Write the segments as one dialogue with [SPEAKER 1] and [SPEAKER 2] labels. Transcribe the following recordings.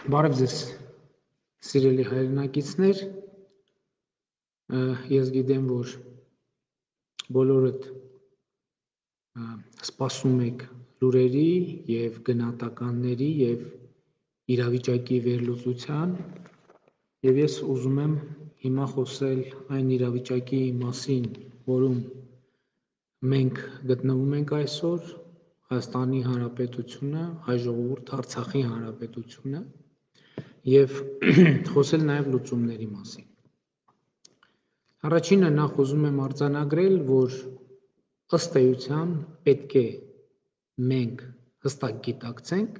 [SPEAKER 1] Բարև ձեզ, սիրելի հայրենակիցներ, ես գիտեմ, որ բոլորդ սպասում եք լուրերի և գնահատականների և իրավիճակի վերլուծության, և ես ուզում եմ հիմա խոսել այն իրավիճակի մասին, որում մենք գտնվում ենք այսօր, Հայաստանի Հանրապետությունը, հայ ժողովուրդ, Արցախի Հանրապետությունը, և խոսել նաև լուծումների մասին։ Առաջինը նախ ուզում եմ արձանագրել, որ ըստ էության պետք է մենք հստակ գիտակցենք,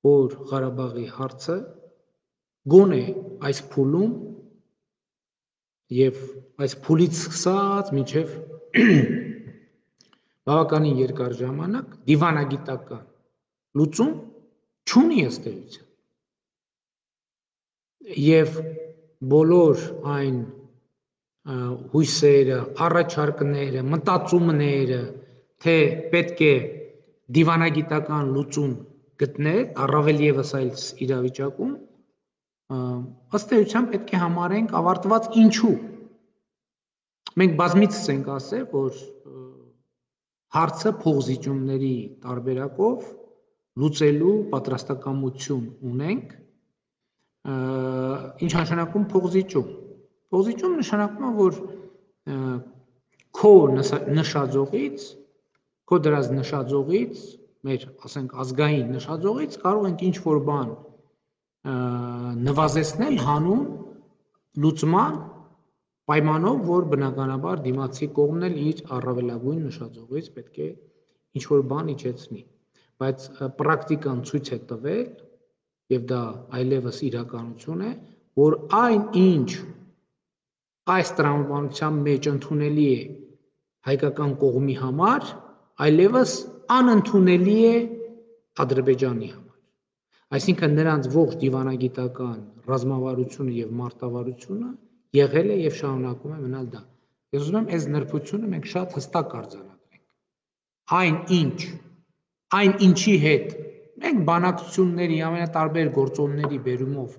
[SPEAKER 1] որ Ղարաբաղի հարցը գոնե այս փուլում և այս փուլից սկսած մինչև բավականին երկար ժամանակ դիվանագիտական լուծում չունի ըստ էության։ Եվ բոլոր այն հույսերը, առաջարկները, մտածումները, թե պետք է դիվանագիտական լուծում գտնել, առավել ևս այս իրավիճակում, ըստ էության պետք է համարենք ավարտված ինչու։ Մենք բազմիցս ենք ասել, որ հարցը փոխզիջումների տարբերակով լուծելու պատրաստակամություն ունենք, ինչ նշանակում փոխզիջում։ Փոխզիջում նշանակում է, որ քո նշաձողից, քո դրած նշաձողից, մեր ասենք ազգային նշաձողից կարող ենք ինչ-որ բան նվազեցնել հանուն լուծման պայմանով, որ բնականաբար դիմացի կողմն էլ իր առավելագույն նշաձողից պետք է ինչ-որ բան իջեցնի, բայց պրակտիկան ցույց է տվել, և դա այլևս իրականություն է, որ այն ինչ այս տրամաբանության մեջ ընդունելի է հայկական կողմի համար, այլևս անընդունելի է Ադրբեջանի համար։ Այսինքն նրանց ողջ դիվանագիտական ռազմավարությունը և մարտավարությունը եղել է և շարունակում է մնալ դա։ Ես ուզում եմ այս նրբությունը մենք շատ հստակ արձանագրենք։ Այն ինչի հետ մենք բանակցությունների ամենատարբեր գործոնների բերումով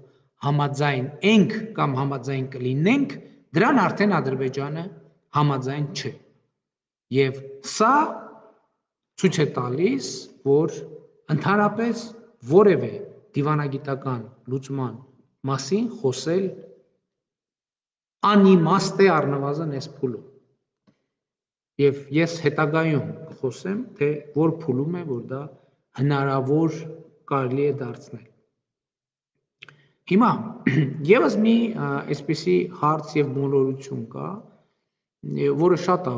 [SPEAKER 1] համաձայն ենք կամ համաձայն կլինենք, դրան արդեն Ադրբեջանը համաձայն չէ։ Եվ սա ցույց է տալիս, որ ընդհանրապես որևէ դիվանագիտական լուծման մասին խոսել անիմաստ է առնվազն այս փուլում։ Եվ ես հետագայում կխոսեմ, թե որ փուլում է, որ դա հնարավոր կարելի է դարձնել։ Հիմա ևս մի այսպիսի հարց և մոլորություն կա, որը շատ է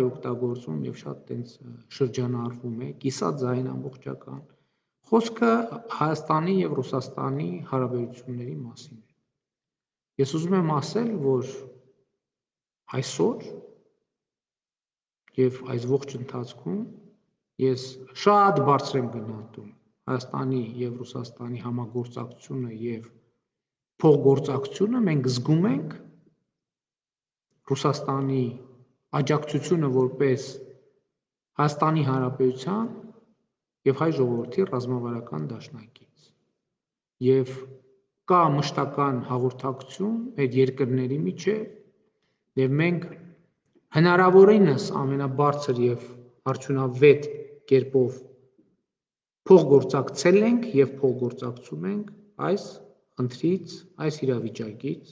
[SPEAKER 1] օգտագործվում և շատ տենց շրջանառվում է, կիսաձայն ամբողջական, խոսքը Հայաստանի և Ռուսաստանի հարաբերությունների մասին է։ Ես ուզում եմ ասել, որ այսօր և այս ողջ ընթացքում ես շատ բարձր եմ գնահատում Հայաստանի և Ռուսաստանի համագործակցությունը և փոխգործակցությունը, մենք զգում ենք Ռուսաստանի աջակցությունը որպես Հայաստանի Հանրապետության և հայ ժողովրդի ռազմավարական դաշնակից։ Եվ կա մշտական հաղորդակցություն մեր երկրների միջև, և մենք հնարավորինս ամենաբարձր և արդյունավետ կերպով փոխգործակցել ենք և փոխգործակցում ենք այս խնդրից, այս իրավիճակից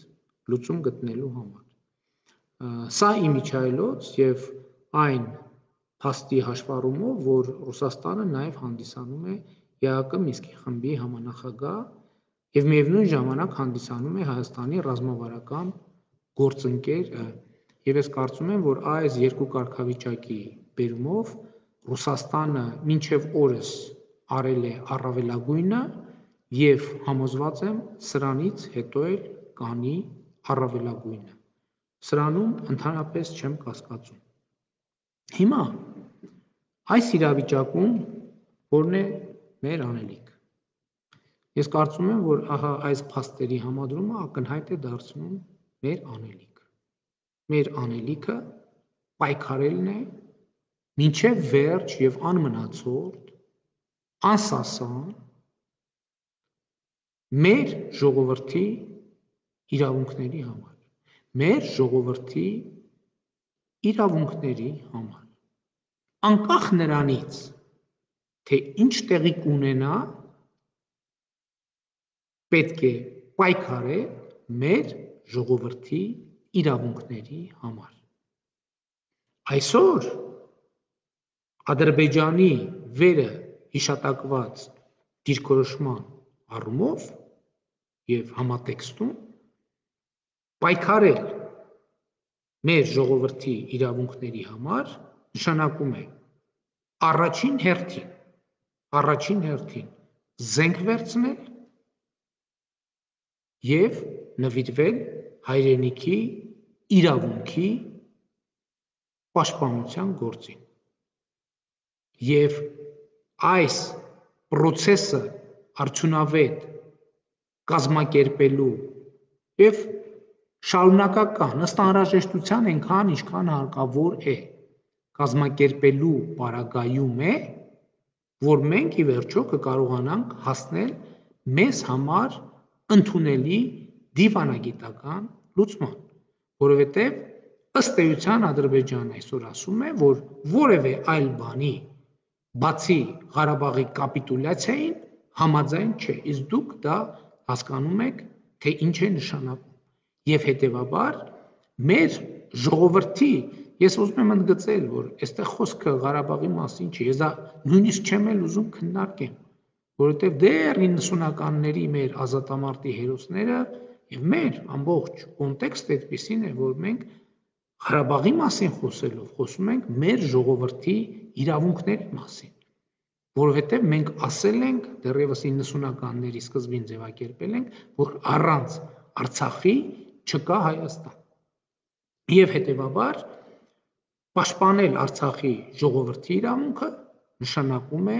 [SPEAKER 1] լուծում գտնելու համար։ Սա իմիջիայլոց և այն փաստի հաշվառումով, որ Ռուսաստանը նաև հանդիսանում է ԵԱՀԿ Մինսկի խմբի համանախագահ և միևնույն ժամանակ հանդիսանում է Հայաստանի ռազմավարական գործընկեր, և ես կարծում եմ, որ այս երկու կարգավիճակի բերումով Ռուսաստանը մինչև օրս արել է առավելագույնը և համոզված եմ սրանից հետո էլ կանի առավելագույնը։ Սրանում ընդհանրապես չեմ կասկածում։ Հիմա այս իրավիճակում որն է մեր անելիքը։ Ես կարծում եմ, որ ահա այս փաստերի համադրումը ակնհայտ է դարձնում մեր անելիքը։ Մեր անելիքը պայքարելն է մինչև վերջ և անմնացորդ, անսասան մեր ժողովրդի իրավունքների համար, մեր ժողովրդի իրավունքների համար, անկախ նրանից, թե ինչ տեղի կունենա, պետք է պայքարել մեր ժողովրդի իրավունքների համար։ Այսօր Ադրբեջանի վերը հիշատակված դիրքորոշման առումով և համատեքստում պայքարել մեր ժողովրդի իրավունքների համար նշանակում է առաջին հերթին զենք վերցնել և նվիրվել հայրենիքի իրավունքի պաշտպանության գործին։ Եվ այս պրոցեսը արդյունավետ կազմակերպելու և շարունակական ըստ անհրաժեշտության այնքան, ինչքան հարկավոր է կազմակերպելու պարագայում է, որ մենք ի վերջո կկարողանանք հասնել մեզ համար ընդունելի դիվանագիտական լուծման, որովհետև ըստ էության Ադրբեջանն այսօր ասում է, որ որևէ այլ բանի բացի Ղարաբաղի կապիտուլյացիային համաձայն չէ, իսկ դուք դա հասկանում եք, թե ինչ է նշանակում։ Եվ հետևաբար մեր ժողովրդի, ես ուզում եմ ընդգծել, որ այստեղ խոսքը Ղարաբաղի մասին չի, ես դա նույնիսկ չեմ էլ ուզում քննարկեմ, որովհետև դեռ 90-ականների մեր ազատամարտի հերոսները և մեր ամբողջ կոնտեքստը այդպիսին է, որ մենք Ղարաբաղի մասին խոսելով խոսում ենք մեր ժողովրդի իրավունքների մասին, որովհետև մենք ասել ենք, դեռևս 90-ականների սկզբին ձևակերպել ենք, որ առանց Արցախի չկա Հայաստան։ Եվ հետևաբար պաշտպանել Արցախի ժողովրդի իրավունքը նշանակում է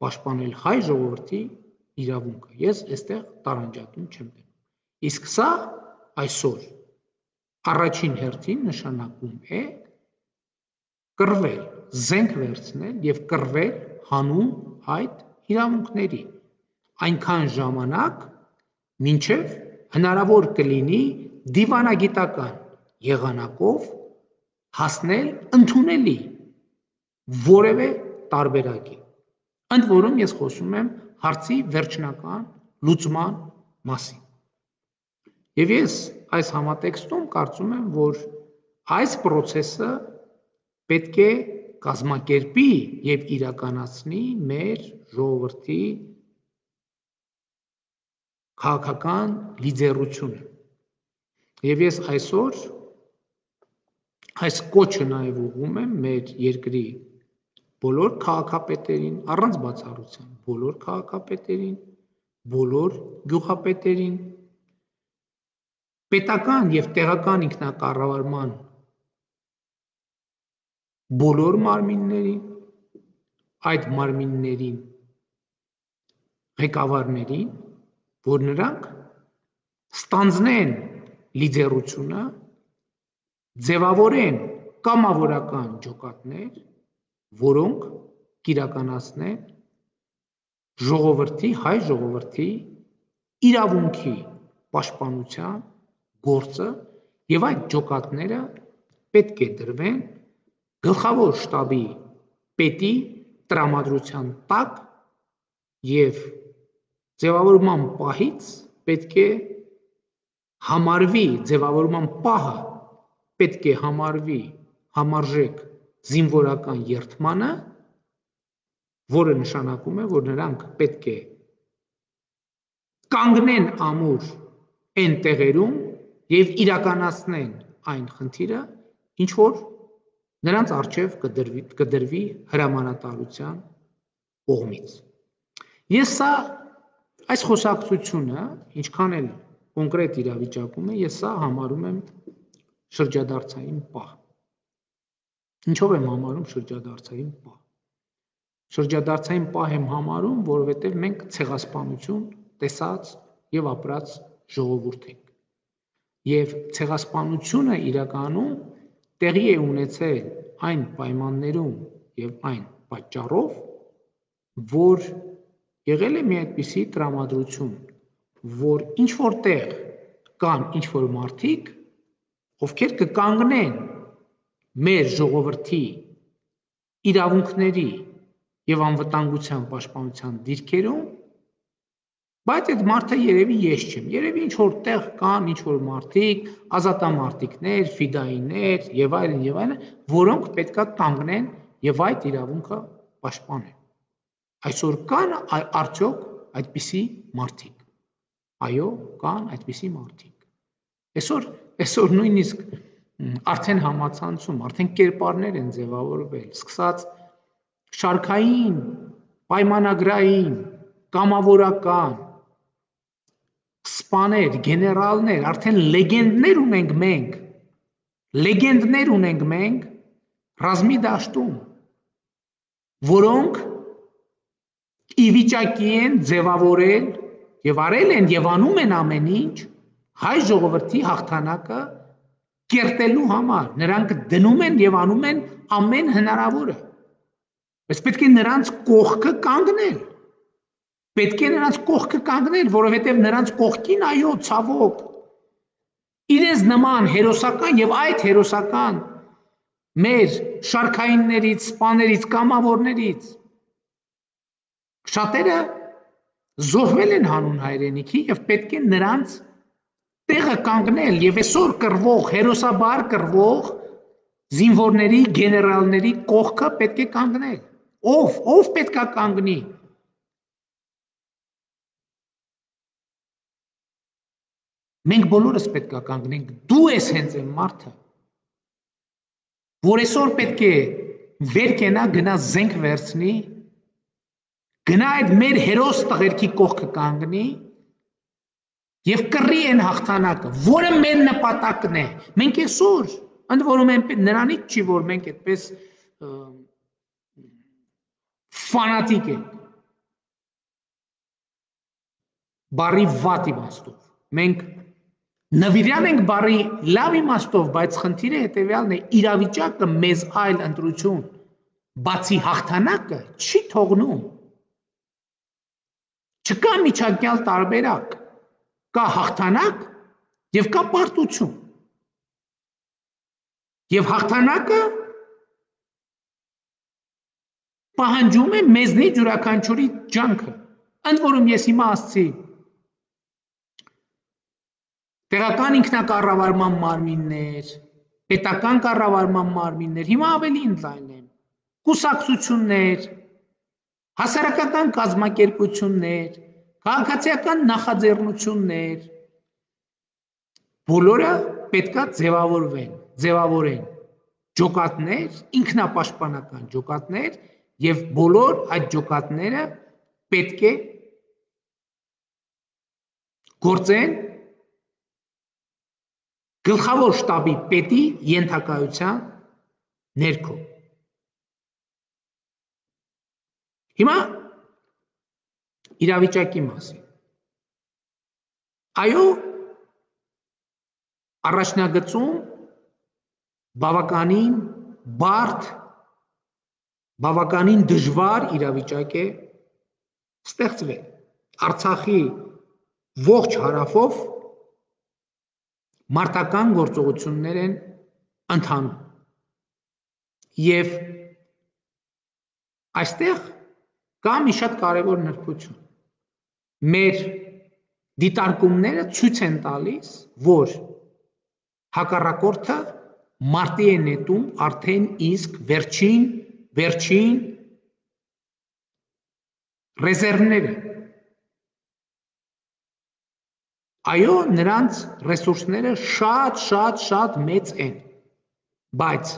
[SPEAKER 1] պաշտպանել հայ ժողովրդի իրավունքը։ Ես այստեղ տարանջատում չեմ դնում։ Իսկ սա այսօր առաջին հերթին նշանակում է կռվել, զենք վերցնել և կռվել հանուն այդ իրավունքների, այնքան ժամանակ, մինչև հնարավոր կլինի դիվանագիտական եղանակով հասնել ընդունելի որևէ տարբերակի։ Ընդ որում ես խոսում եմ հարցի վերջնական լուծման մասին։ Եվ ես այս համատեքստում կարծում եմ, որ այս պրոցեսը պետք է կազմակերպի և իրականացնի մեր ժողովրդի քաղաքական լիդերությունը։ Եվ ես այսօր այս կոչը նաև ուղղում եմ մեր երկրի բոլոր քաղաքապետերին, առանց բացառության, բոլոր քաղաքապետերին, բոլոր գյուղապետերին, պետական և տեղական ինքնակառավարման բոլոր մարմիններին, այդ մարմիններին ղեկավարներին, որ նրանք ստանձնեն լիդերությունը, ձևավորեն կամավորական ջոկատներ, որոնք կիրականացնեն հայ ժողովրդի իրավունքի պաշտպանության գործը և այդ ջոկատները պետք է դրվեն գլխավոր շտաբի պետի տրամադրության տակ և ձևավորման պահից պետք է համարվի, ձևավորման պահը պետք է համարվի համարժեք զինվորական երդմանը, որը նշանակում է, որ նրանք պետք է կանգնեն ամուր այն տեղերում և իրականացնեն այն խնդիրը, ինչ որ նրանց առջև կդրվի հրամանատարության կողմից։ Ես այս խոսակցությունը, ինչքան էլ կոնկրետ իրավիճակում է, ես սա համարում եմ շրջադարձային պահ։ Ինչով եմ համարում շրջադարձային պահ։ Շրջադարձային պահ եմ համարում, որովհետև մենք ցեղասպանություն տեսած և ապրած ժողովուրդ ենք։ Եվ ցեղասպանությունը իրականում տեղի է ունեցել այն պայմաններում և այն պատճառով, որ եղել է մի այդպիսի տրամադրություն որ ինչ որտեղ կան ինչ որ մարդիկ, ովքեր կկանգնեն մեր ժողովրդի իրավունքների եւ անվտանգության պաշտպանության դիրքերում, բայց այդ մարդը երևի ես չեմ, երևի ինչ որտեղ կան ինչ որ մարդիկ, ազատամարտիկներ, ֆիդայիներ եւ այլն, որոնք պետքա կանգնեն եւ այդ իրավունքը պաշտպանեն։ Այսօր կան արդյոք այդպիսի մարդիկ։ Այո, կան այդպիսի մարդիկ։ Այսօր նույնիսկ արդեն համացանցում, արդեն կերպարներ են ձևավորվել, սկսած շարքային, պայմանագրային, կամավորական, սպաներ, գեներալներ, արդեն լեգենդներ ունենք մենք ռազմի դաշտում, որոնք ի վիճակի են ձևավորել եւ արել են եւ անում են ամեն ինչ հայ ժողովրդի հաղթանակը կերտելու համար, նրանք դնում են եւ անում են ամեն հնարավորը։ Բայց պետք է նրանց կողքը կանգնել, որովհետեւ նրանց կողքին, այո, ցավոք, իրենց նման հերոսական եւ այդ հերոսական մեր շարքայիններից, սպաներից, կամավորներից շատերը զոհվել են հանուն հայրենիքի եւ պետք է նրանց տեղը կանգնել եւ այսօր կռվող, հերոսաբար կռվող զինվորների, գեներալների կողքը պետք է կանգնել։ Ով պետք է կանգնի։ Մենք բոլորս պետք է կանգնենք։ Դու ես հենց այն մարդը, որ այսօր պետք է վեր կենա, գնա զենք վերցնի, գնա այդ մեր հերոս տղերքի կողքը կանգնի եւ կռի այն հաղթանակը, որը մեր նպատակն է։ Մենք այսօր, ընդ որում նրանից չի, որ մենք այդպես ֆանատիկ ենք, բարի վատ իմաստով, մենք նվիրյալ ենք բարի լավ իմաստով, բայց խնդիրը հետեւյալն է, իրավիճակը մեզ այլ ընտրություն, բացի հաղթանակը, չի թողնում։ Չկա միջակյալ տարբերակ, կա հաղթանակ եւ կա պարտություն։ Եվ հաղթանակը պահանջում է մեզնից յուրաքանչյուրի ջանքը։ Ընդ որում ես հիմա ասացի տեղական ինքնակառավարման մարմիններ, պետական կառավարման մարմիններ, հիմա ավելի ընդլայնեմ, կուսակցություններ, հասարակական կազմակերպություններ, քաղաքացիական նախաձեռնություններ, բոլորը պետքա ձևավորեն ջոկատներ, ինքնապաշտպանական ջոկատներ եւ բոլոր այդ ջոկատները պետք է գործեն գլխավոր շտաբի պետի ենթակայության ներքո։ Հիմա իրավիճակի մասին։ Այո, առաջնագծում բավականին բարդ, բավականին դժվար իրավիճակ է ստեղծվել։ Արցախի ողջ հարավով մարտական գործողություններ են ընթանում։ Եվ այստեղ կա մի շատ կարևոր նրբություն։ Մեր դիտարկումները ցույց են տալիս, որ հակառակորդը մարտի է նետում արդեն իսկ վերջին ռեզերվները։ Այո, նրանց ռեսուրսները շատ մեծ են, բայց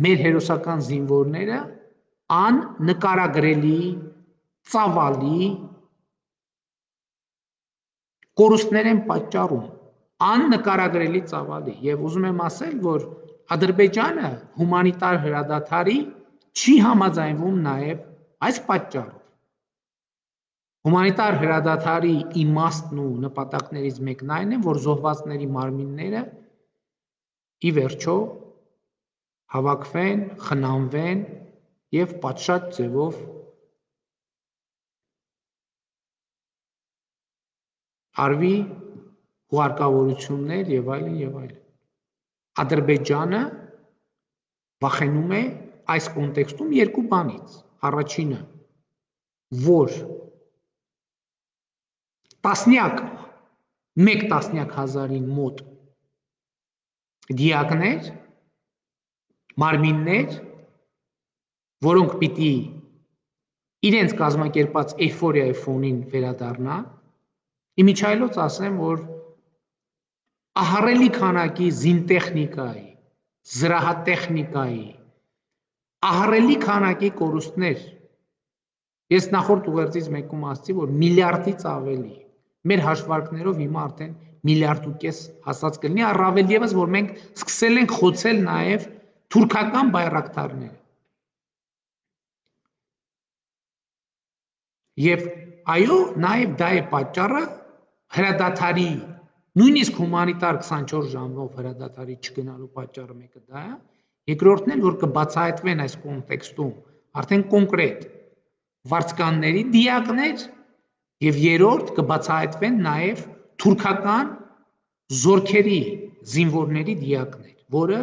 [SPEAKER 1] մեր հերոսական զինվորները աննկարագրելի, ծավալի կորուստներ են պատճառում, աննկարագրելի ծավալի, եւ ուզում եմ ասել, որ Ադրբեջանը հումանիտար հրադադարի չի համաձայնվում նաեւ այս պատճառով։ Հումանիտար հրադադարի իմաստն ու նպատակներից մեկն այն է, որ զոհվածների մարմինները ի վերջո հավաքվեն, խնամվեն եւ պատշաճ ձևով արվի հուղարկավորություններ եւ այլն։ Ադրբեջանը վախենում է այս կոնտեքստում երկու բանից։ Առաջինը, որ մեկ տասնյակ հազարին մոտ դիակներ, մարմիններ, որոնք պիտի իրենց կազմակերպած էյֆորիայի ֆոնին վերադառնան, իմիջայլոց ասեմ, որ ահռելի քանակի զինտեխնիկայի, զրահատեխնիկայի, ահռելի քանակի կորուստներ, ես նախորդ ուղերձից մեկում ասացի, որ միլիարդից ավելի, մեր հաշվարկներով հիմա արդեն 1,5 միլիարդ հասած կլինի, առավել ևս, որ մենք սկսել ենք խոցել նաև թուրքական բայրակթարները։ Եվ այո, նաև դա է պատճառը հրադադարի, նույնիսկ հումանիտար 24 ժամով հրադադարի չգնալու պատճառը մեկը դա է, երկրորդն էլ, որ կբացահայտվեն այս կոնտեքստում արդեն կոնկրետ վարձկանների դիակներ եւ երրորդ կբացահայտվեն նաև թուրքական զորքերի զինվորների դիակներ, որը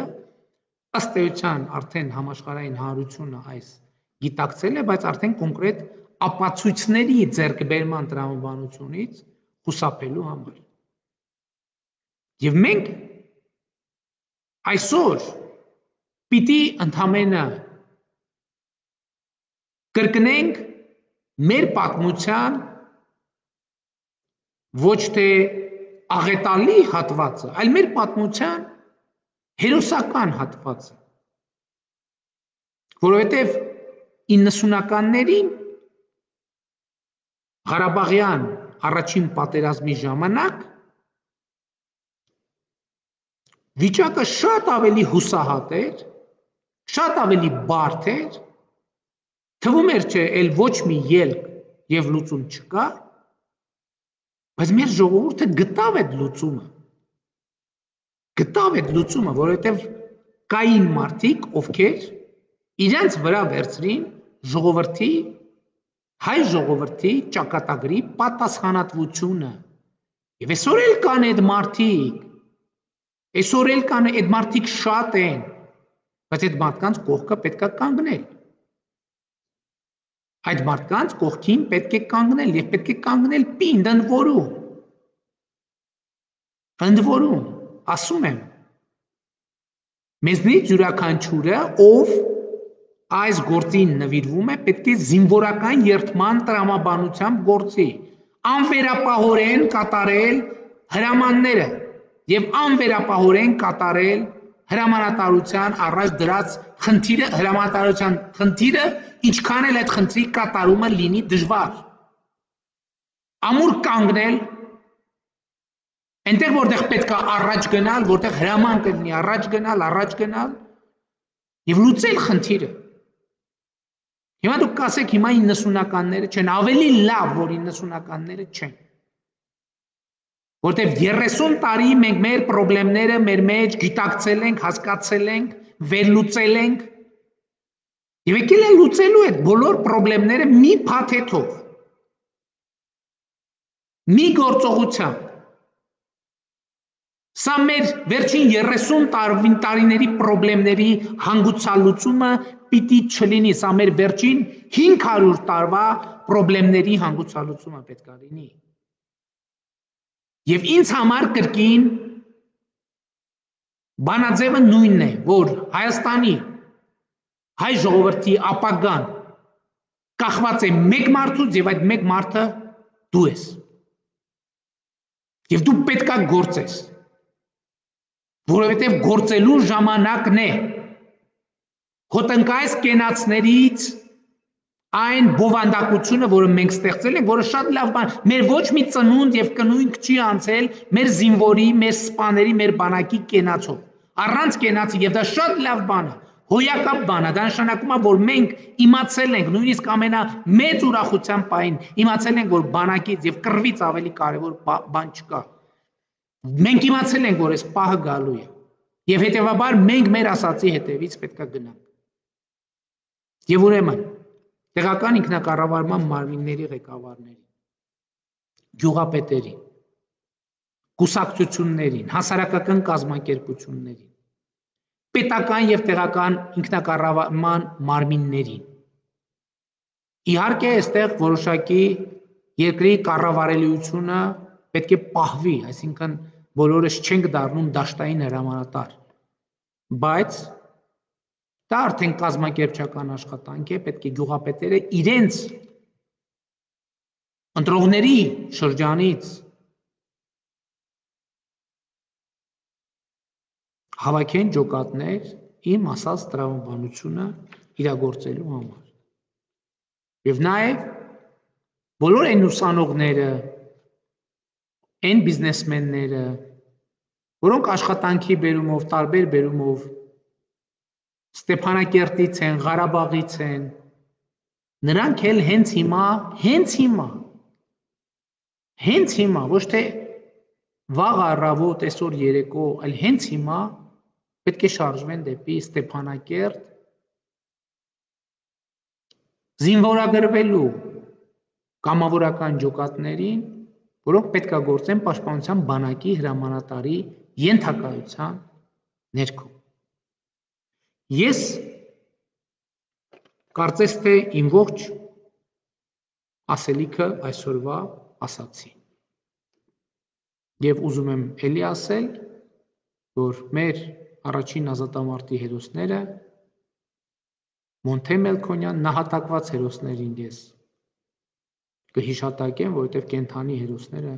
[SPEAKER 1] ըստ էության արդեն համաշխարհային հանրությունը այս գիտակցել է, բայց արդեն կոնկրետ ապացույցների ձեռքբերման տրամաբանությունից խուսափելու համար։ Եվ մենք այսօր պիտի ընդամենը կրկնենք մեր պատմության ոչ թե աղետալի հատվածը, այլ մեր պատմության հերոսական հատվածը, որովհետև 90-ականներին Ղարաբաղյան առաջին պատերազմի ժամանակ վիճակը շատ ավելի հուսահատ էր, շատ ավելի բարդ էր, թվում էր չէ, էլ ոչ մի ելք եւ լուծում չկա, բայց մեր ժողովուրդը գտավ այդ լուծումը, որովհետեւ կային մարդիկ, ովքեր իրենց վրա վերցրին հայ ժողովրդի ճակատագրի պատասխանատվությունը։ Եվ այսօր էլ կան այդ մարդիկ, այդ մարդիկ շատ են, բայց այդ մարդկանց կողքը պետք է կանգնել։ Այդ մարդկանց կողքին պետք է կանգնել եւ պետք է կանգնել պինդ ընդ որում, ասում եմ, մեզնից յուրաքանչյուրը, ով այս գործին նվիրվում է, պետք է զինվորական երդման տրամաբանությամբ գործի, անվերապահորեն կատարել հրամանները եւ անվերապահորեն կատարել հրամանատարության առաջ դրած հրամանատարության խնդիրը, ինչքան էլ այդ խնդրի կատարումը լինի դժվար։ Ամուր կանգնել, այնտեղ որտեղ պետք է առաջ գնալ, որտեղ հրաման կլինի առաջ գնալ եւ լուծել խնդիրը։ Հիմա դուք կասեք, հիմա 90-ականները չեն, ավելի լավ, որ 90-ականները չեն։ Որտեւ 30 տարի մենք մեր խնդիրները մեր մեջ գիտակցել ենք, հասկացել ենք, վերլուծել ենք եւ եկել են լուծելու այդ բոլոր խնդիրները մի փաթեթով, մի գործողությամբ։ Սա մեր վերջին 30 տարիների խնդիրների հանգուցալուծումը պիտի չլինի, սա մեր վերջին 500 տարվա խնդիրների հանգուցալուծումը պետք է լինի։ Եվ ինձ համար կրկին բանաձևը նույնն է, որ Հայաստանի հայ ժողովրդի ապագան կախված է մեկ մարդուց եւ այդ մեկ մարդը դու ես։ Եվ դու պետք է գործես, որովհետև գործելու ժամանակն է, հոտնկայս կենացներից այն բովանդակությունը, որը մենք ստեղծել ենք, որը շատ լավ բան, մեր ոչ մի ծնունդ եւ կնույնք չի անցել մեր զինվորի, մեր սպաների, մեր բանակի կենացով, առանց կենացի, եւ դա շատ լավ բան է, հոյակապ բան է, դա նշանակում է, որ մենք իմացել ենք, նույնիսկ ամենամեծ ուրախության պահին, իմացել ենք, որ բանակից եւ կռվից ավելի կարեւոր բան չկա։ Մենք իմացել ենք, որ այս պահը գալու է, եւ հետեւաբար մենք մեր ասացի հետևից պետք է գնանք։ Եվ ուրեմն տեղական ինքնակառավարման մարմինների ղեկավարներին, գյուղապետերին, կուսակցություններին, հասարակական կազմակերպություններին, պետական եւ տեղական ինքնակառավարման մարմիններին։ Իհարկե, այստեղ որոշակի երկրի կառավարելիությունը պետք է պահվի, այսինքն բոլորս չենք դառնում դաշտային հրամանատար, բայց դա արդեն կազմակերպչական աշխատանք է, պետք է գյուղապետերը իրենց ընտրողների շրջանից հավաքեն ջոկատներ իմ ասած տրամաբանությունը իրագործելու համար։ Եվ նաև բոլոր այն ուսանողները, այն բիզնեսմենները, որոնք աշխատանքի բերումով, տարբեր բերումով Ստեփանակերտից են, Ղարաբաղից են, նրանք էլ հենց հիմա, ոչ թե վաղ առավոտ, այսօր երեկո, այլ հենց հիմա պետք է շարժվեն դեպի Ստեփանակերտ զինվորագրվելու կամավորական ջոկատներին, որոնք պետք է գործեն պաշտպանության բանակի հրամանատարի ենթակայության ներքո։ Ես կարծես թե իմ ողջ ասելիքը այսօրվա ասացի։ Եվ ուզում եմ էլի ասել, որ մեր առաջին ազատամարտի հերոսները Մոնթե Մելքոնյան նահատակված հերոսներին ես կհիշատակեմ, որովհետև կենթանի հերոսները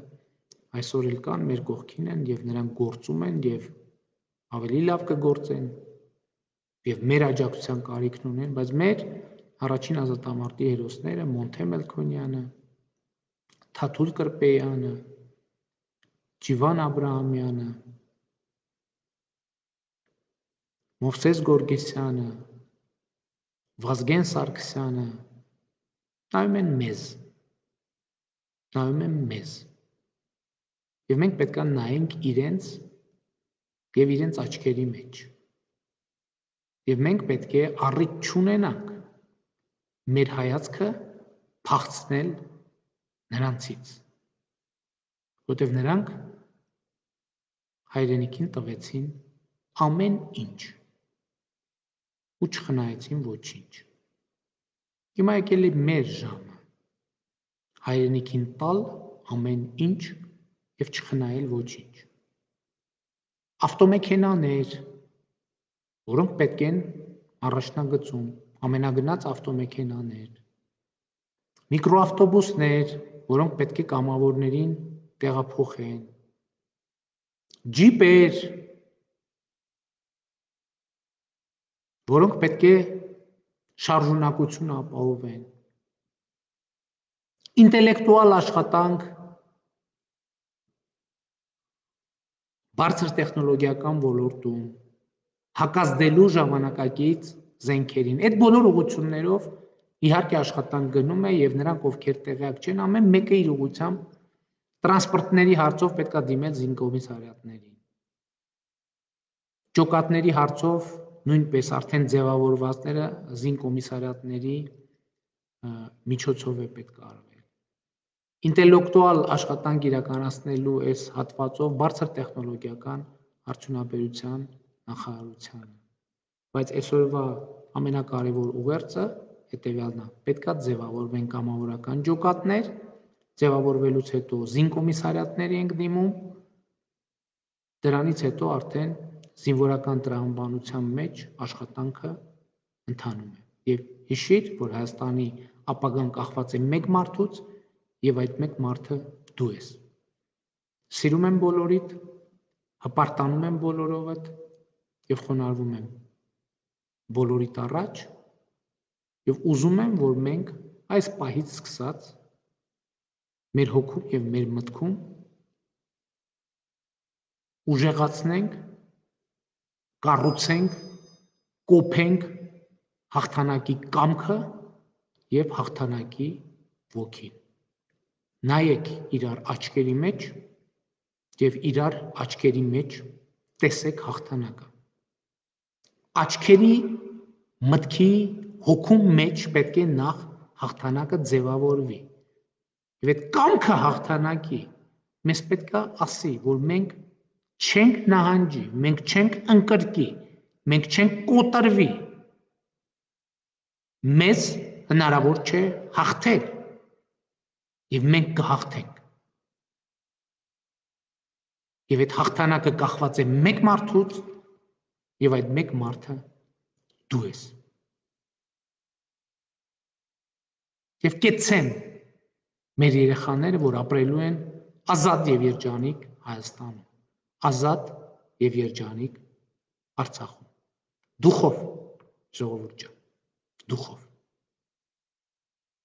[SPEAKER 1] այսօր էլ կան, մեր կողքին են եւ նրանք գործում են եւ ավելի լավ կգործեն եւ մեր աջակցության կարիքն ունեն, բայց մեր առաջին ազատամարտի հերոսները Մոնթե Մելքոնյանը, Թաթուլ Կրպեյանը, Ջիվան Աբրահամյանը, Մովսես Գորգեսյանը, Վազգեն Սարգսյանը նայում են մեզ եւ մենք պետք է նայենք իրենց եւ իրենց աչքերի մեջ եւ մենք պետք է առիթ չունենանք մեր հայացքը փախցնել նրանցից, որտեղ նրանք հայրենիքին տվեցին ամեն ինչ ու չխնայեցին ոչինչ։ Հիմա եկել է մեր ժամը հայրենիքին տալ ամեն ինչ եւ չխնայել ոչինչ։ Ավտոմեքենաներ, որոնք պետք են առաջնագծում, ամենագնաց ավտոմեքենաներ, միկրոավտոբուսներ, որոնք պետք է կամավորներին տեղափոխեն, ջիպեր, որոնք պետք է շարժունակություն ապահովեն, ինտելեկտուալ աշխատանք, բարձր տեխնոլոգիական ոլորտում, հակազդելու ժամանակակից զենքերին։ Այդ բոլոր ուղղություններով իհարկե աշխատանք գնում է եւ նրանք, ովքեր տեղյակ չեն, ամեն մեկը իր ուղղությամբ տրանսպորտների հարցով պետք է դիմել զինկոմիսարիատներին։ Ջոկատների հարցով նույնպես արդեն ձևավորվածները զինկոմիսարիատների միջոցով է պետք արվել։ Ինտելեկտուալ աշխատանք իրականացնելու այս հատվածով բարձր տեխնոլոգիական արդյունաբերության նախարարությանը։ Բայց այսօրվա ամենակարևոր ուղերձը հետևյալն է. պետք է ձևավորվեն կամավորական ջոկատներ, ձևավորվելուց հետո զինկոմիսարիատների ենք դիմում, դրանից հետո արդեն զինվորական տրամաբանության մեջ աշխատանքը ընթանում է։ Եվ հիշիր, որ Հայաստանի ապագան կախված է մեկ մարդուց եւ այդ մեկ մարդը դու ես։ Սիրում եմ բոլորիդ, հպարտանում եմ բոլորովդ եւ խոնարհվում եմ բոլորիդ առաջ եւ ուզում եմ, որ մենք այս պահից սկսած մեր հոգում եւ մեր մտքում ուժեղացնենք, կառուցենք, կոփենք հաղթանակի կամքը եւ հաղթանակի ոգին։ Նայեք իրար աչքերի մեջ եւ իրար աչքերի մեջ տեսեք հաղթանակը։ Աչքերի, մտքի, հոգու մեջ պետք է նախ հաղթանակը ձևավորվի։ Եվ այդ կամքը հաղթանակի մեզ պետք է ասի, որ մենք չենք նահանջի, մենք չենք ընկրկի, մենք չենք կոտրվի, մեզ հնարավոր չէ հաղթել և մենք կհաղթենք։ Եվ այդ հաղթանակը կախված է մեկ մարդուց և այդ մեկ մարդը դու ես։ Եվ կեցցեմ մեր երեխաները, որ ապրելու են ազատ և երջանիկ Հայաստանում, ազատ և երջանիկ Արցախում, դուխով, ժողովուրդ ջան, դուխով։